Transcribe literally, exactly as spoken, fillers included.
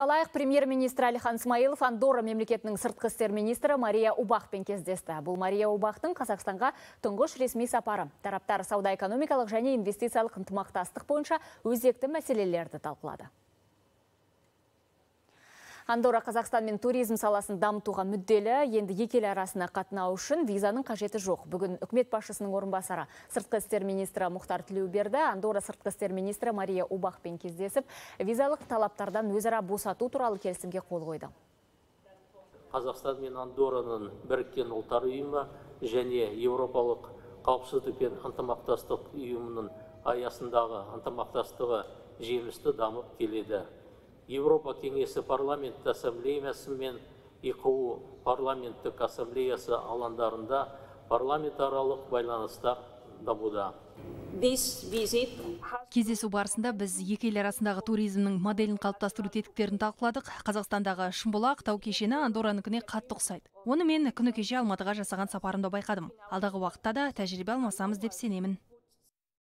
Алайық премьер-министр Әлихан Смайылов Андорра мемлекетінің сыртқы істер министрі Мария Убахпен кездесті. Бұл Мария Убахтың Қазақстанға тұңғыш ресми сапары. Тараптар сауда-экономикалық және инвестициялық ынтымақтастық бойынша өзекті мәселелерді талқылады. Андорра Қазақстан мен туризм саласын дамытуға мүдделі, енді екі ел арасына қатынау үшін визаның қажеті жоқ. Бүгін үкімет басшысының орынбасары сыртқы істер министрі Мұхтар Тілеуберді Андорра сыртқы істер министрі Мария Убахпен кездесіп, визалық талаптардан өзара босату туралы келісімге қол қойды. Қазақстан мен Андорраның біріккен ұлттар ұйымы және Еуропалық қауіпсіздік пен ынтымақтастық ұйымының аясындағы ынтымақтастығы жемісті дамып келеді. Еуропа кеңесі парламент ассамблеясы мен И Қ У парламенттік ассамблеясы алаңдарында парламентаралық байланыстар дамуда. Кездесу барысында біз екі ел арасындағы туризмнің моделін қалыптастыру тетіктерін талқыладық. Қазақстандағы Шымбұлақ тау кешені Андорраныкіне қатты ұқсайды. Оны мен күні кеше Алматыға жасаған сапарымда байқадым. Алдағы уақытта да тәжірибе алмасамыз деп сенемін.